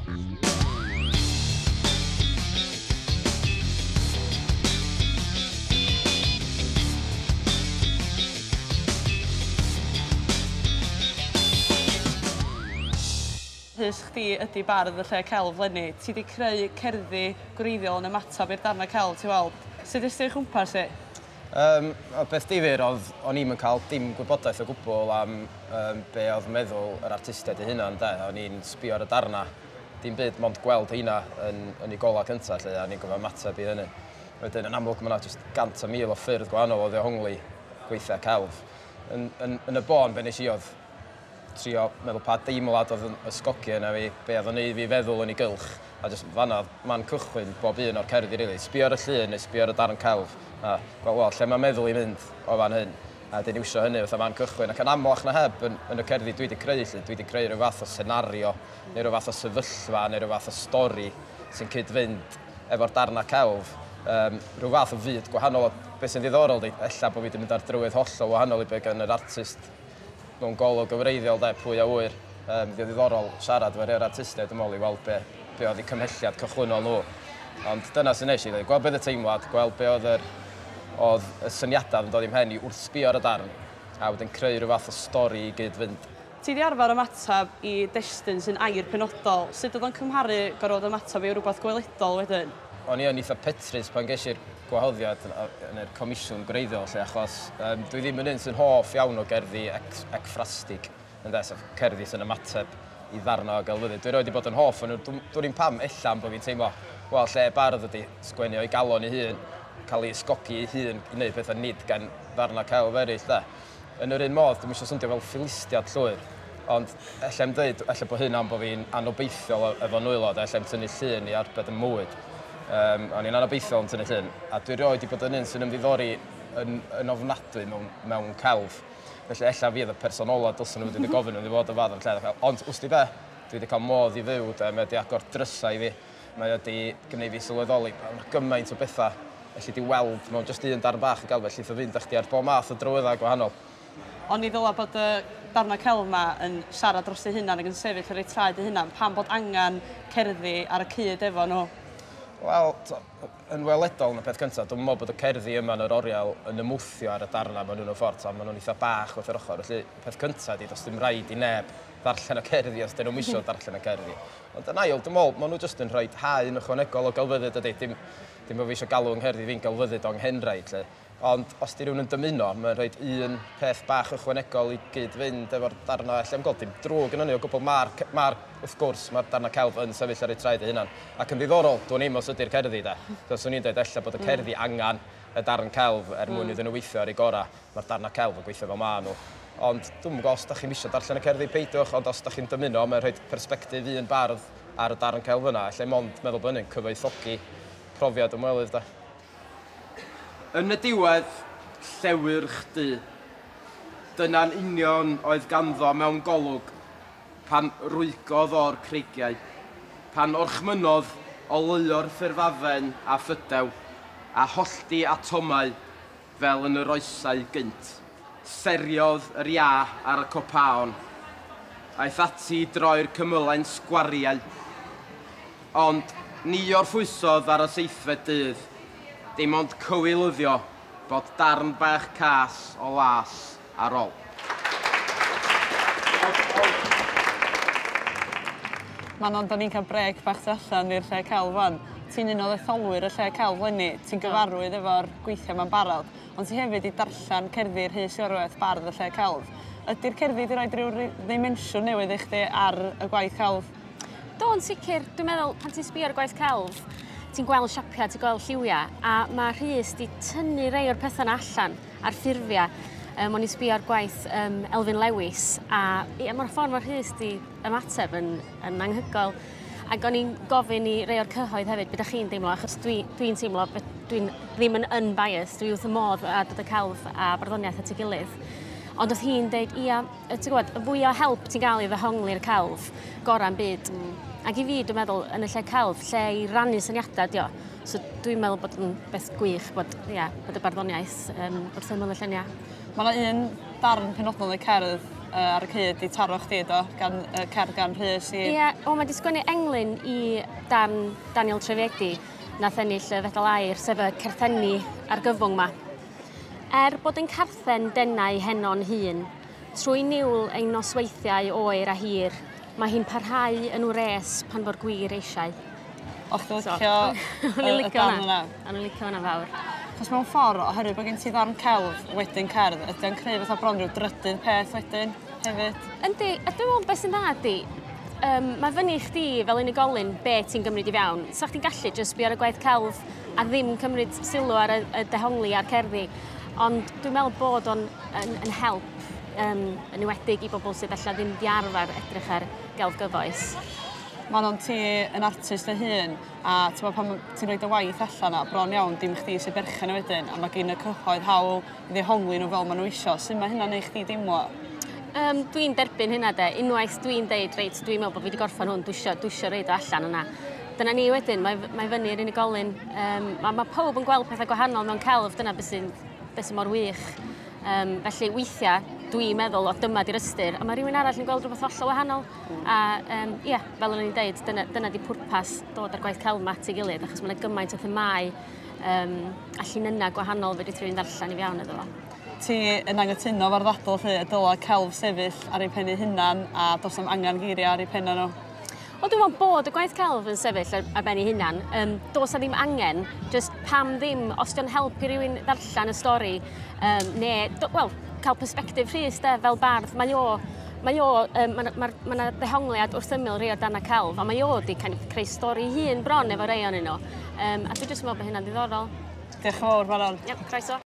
Rhys, chdi ydi bardd y lle celf 'leni. Ti 'di creu cerddi gwreiddiol yn ymateb i'r darnau celf ti weld. Sut est ti o'i chwmpas hi? Y peth difyr oedd o'n i'm yn cael dim gwybodaeth o gwbl am yym be oedd meddwl yr artistiaid eu hunan de. O'n i'n sbio ar y darnau, dim byd mond gweld heina yn yn eu golau cynta 'lly a o'n i'n gorfod ymateb i hynny. Wedyn yn amlwg ma' 'na jyst gant a mil o ffyrdd gwahanol o ddehongli gweithiau celf. Yn yn yn y bôn be' nes i oedd trio meddwl pa deimlad oedd yn ysgogi yna fi, be oedd yn neud fi feddwl yn ei gylch, a jyst fan'na oedd man cychwyn bob un o'r cerddi rili. Sbio ar y llun neu sbio ar y darn celf a gweld wel lle mae meddwl i'n mynd o fan hyn, a wedyn iwsio hynny fatha man cychwyn ac yn amlach na heb yn yn y cerddi dwi 'di creu 'lly, dwi 'di creu rhyw fath o senario neu rhyw fath o sefyllfa neu rhyw fath o stori sy'n cyd-fynd efo'r darnau celf, yym rhyw fath o fyd gwahanol a be' sy'n ddiddorol 'di ella bo' fi 'di mynd ar drywydd hollol wahanol i be' gan yr artist mewn golwg yn wreiddiol de, pwy a ŵyr. Yym, fydd o'n ddiddorol siarad efo rhai o'r artistiaid dwi'n meddwl i weld be, be oedd eu cymhelliad cychwynnol nhw. Ond dyna sy'n neis i ddweud, gweld be oedd y teimlad, gweld be oedd yr, oedd y syniadau oedd yn dod i'm mhen i wrth sbio ar y darn, a wedyn creu rhyw fath o stori i gyd-fynd. Ti 'di arfer ymateb i destun sy'n air penodol, sut oedd o'n cymharu gorfod ymateb i rywbeth gweledol wedyn? O'n i yn eitha petrus pan ges i'r gwahoddiad yn yr comisiwn gwreiddiol 'lly achos yym dwi ddim yn un sy'n hoff iawn o gerddi ecfrastig ynde, sef cerddi sy'n ymateb i ddarnau o gelfyddyd. Dwi erioed 'di bod yn hoff o nhw, dwn i'm pam, ella am bod fi'n teimlo, wel lle bardd ydi sgwennu o'i galon ei hun, cael ei ysgogi ei hun i wneud pethau nid gan ddarnau celf eraill 'de. Yn yr un modd, dwi'm isio swndio fel Philistiad llwyr, ond ella i'm dweud, ella bod hyn am bod fi'n anobeithiol efo nwylo, de, ella i'm tynnu llun i arbed 'y mywyd. Um, o'n i'n anobeithiol yn tynnu llun, a dwi erioed 'di bod yn un sy'n ymddiddori yn, yn ofnadwy mewn, mewn celf. Felly ella fi oedd y person ola dylsen nhw wedi gofyn iddo fod y fath o'r lle. Ond, wsti be, dwi wedi cael modd i fyw, de, mae wedi agor drysau i fi. Mae wedi gwneud fi sylweddoli bod 'na gymaint o bethau elli di weld mewn jyst un darn bach o gelf, ellith o fynd â chdi ar bob math o drywyddau gwahanol. Oni ddyla bod y darnau celf 'ma yn siarad dros eu hunan ac yn sefyll ar eu traed eu hunan? Pam bod angen cerddi ar y cyd efo nhw? Wel, yn weledol yn y peth cyntaf, dwi'm yn meddwl bod y cerddi yma yn yr oriel yn ymwthio ar y darnau maen nhw mewn ffordd, ta, maen nhw'n eitha bach wrth yr ochr. Felly, y peth cyntaf ydy, does dim rhaid i neb ddarllen y cerddi os dyn nhw'm isio darllen y cerddi. Ond yn ail, dwi'n meddwl, maen nhw jyst yn rhoi haen ychwanegol o gelfyddyd, dydy. Dim, dim bod fi eisiau galw 'ngherddi fi'n gelfyddyd o anghenraid, 'lly. Ond os 'di rhywun yn dymuno, mae'n rhoi un peth bach ychwanegol i gyd-fynd efo'r darnau. Alla i'm gweld dim drwg yn hynny o gwbl. Mae'r, mae'r, wrth gwrs, mae'r darnau celf yn sefyll ar eu traed eu hunan. Ac yn ddiddorol, dwn i'm os ydy'r cerddi, de. So, 'swn i'n dweud ella bod y cerddi angen y darn celf er mwyn iddyn nhw weithio ar eu gorau. Mae'r darnau celf yn gweithio fel maen nhw. Ond dwi'm yn gwybod os dach chi'm isio darllen y cerddi, peidiwch, ond os dach chi'n dymuno, mae'n rhoi persbectif un bardd ar y darn celf yna. Alla i mond meddwl bod hynny'n cyfoethogi profiad ymwelydd de. Yn y diwedd, llewyrch du. Dyna'n union oedd ganddo mewn golwg pan rwygodd o'r creigiau, pan orchmynnodd oleuo'r ffurfafen â phydew, a hollti atomau Fel yn yr oesau gynt. Seriodd yr iâ ar y copaon. Aeth ati i droi'r cymylau'n sgwariau. Ond, ni orffwysodd ar y seithfed dydd, dim ond cywilyddio bod darn bach cas o las ar ol. Manon, 'dan ni'n cael brêc bach tu allan i'r lle celf 'wan. Ti'n un o ddetholwyr y lle celf 'leni, ti'n gyfarwydd efo'r gweithiau 'ma'n barod, ond ti hefyd 'di darllen cerddi Rhys Iorwerth, bardd y lle celf. Ydi'r cerddi 'di roid ryw ddimensiwn newydd i chdi ar y gwaith celf? Do, yn sicr. Dwi'n meddwl pan ti'n sbio ar y gwaith celf, ti'n gweld siapia, ti'n gweld lliwia, a ma' Rhys 'di tynnu rei o'r petha 'na allan a'r ffurfia. Yym o'n i'n sbio ar gwaith yym Elfyn Lewis a ie ma'r ffordd ma' Rhys 'di ymateb yn yn anghygoel. Ac o'n i'n gofyn i rei o'r cyhoedd hefyd be' 'dach chi'n deimlo achos dwi dwi'n teimlo be- dwi'n ddim yn unbiased dwi wrth 'y modd â dod â celf a barddoniaeth at ei gilydd. Ond o'dd hi'n deud ia yy ti gwbod y fwya o help ti'n ga'l i ddehongli'r celf gora'n byd. Ac i fi dwi'n meddwl yn y lle celf lle i rannu syniada 'di o. So dwi'n meddwl bod yn beth gwych bod ia bod y barddoniaeth yym wrth ymyl y llunia'. Ma' 'na un darn penodol yn y cerdd ar y cyd i taro chdi do, gan cerdd gan Rhys i... Ie, o, mae 'di sgwennu englyn i dan Daniel Trefedi, nath ennill y Fedal Aur, sef y certhenni argyfwng 'ma. Er bod yn carthen denau heno'n hun, trwy niwl ein nosweithiau oer a hir, mae hi'n parhau yn wres pan fo'r gwir eisiau. O, chdi licio y darn yna? O'n i'n licio hwnna fawr. Chos mewn ffordd, oherwydd bod gen ti ddarn celf wedyn cerdd, ydy o'n creu fatha bron rhyw drydydd peth wedyn hefyd? Yndi, a dwi'n meddwl beth sy'n dda ydi, mae fyny i chdi fel unigolyn be ti'n gymryd i fewn. Sa chdi'n gallu jyst sbio ar y gwaith celf a ddim cymryd sylw ar y dehongli a'r cerddi. Ond dwi'n meddwl bod o'n yn help, yn enwedig i bobl sydd ella ddim 'di arfer edrych ar gelf gyfoes. Manon, ti yn artist dy hun, a ti'n pan ti'n rhoi dy waith allan 'na, bron iawn dim chdi sy'n berchen o wedyn, a mae gen y cyhoedd hawl i ddehongli nhw fel maen nhw isio. Sut mae hynna'n neud chdi deimlo? Dwi'n derbyn hynna de. Unwaith dwi'n deud, reit, dwi'n meddwl bod fi wedi gorffen hwn, dwi isio roid o allan yna. Dyna ni wedyn, mae fyny i'r unigolyn. Mae pawb yn gweld pethau gwahanol mewn celf, dyna beth sy'n be sy mor wych. Felly weithiau dwi'n meddwl, o, dyma di'r ystyr, a mae rhywun arall yn gweld rhywbeth hollol wahanol. A ie, yeah, fel o'n i'n deud, dyna di pwrpas dod â'r gwaith celf 'ma at ei gilydd, achos mae yna gymaint o themâu a llinynnau gwahanol fedri rhywun ddarllen i fewn iddo fo. Ti yn anghytuno efo'r ddadl lle y dyla celf sefyll ar ei pen ei hunan a does na'm angen geiriau ar ei penna nhw? Wel, dwi'n meddwl bod y gwaith celf yn sefyll ar ben ei hunan. Does 'na ddim angen, just pam ddim, os dio'n helpu rhywun ddarllen y stori, neu, wel, cael perspectif Rhys de, fel bardd, mae o, ma ddehongliad wrth ymyl rhai o'r darna celf, a mae o di kind of creu stori hun bron efo rei ohonyn nhw. A dwi'n jyst meddwl bod hynna'n ddiddorol. Diolch yn fawr, Manon. Yep, croeso.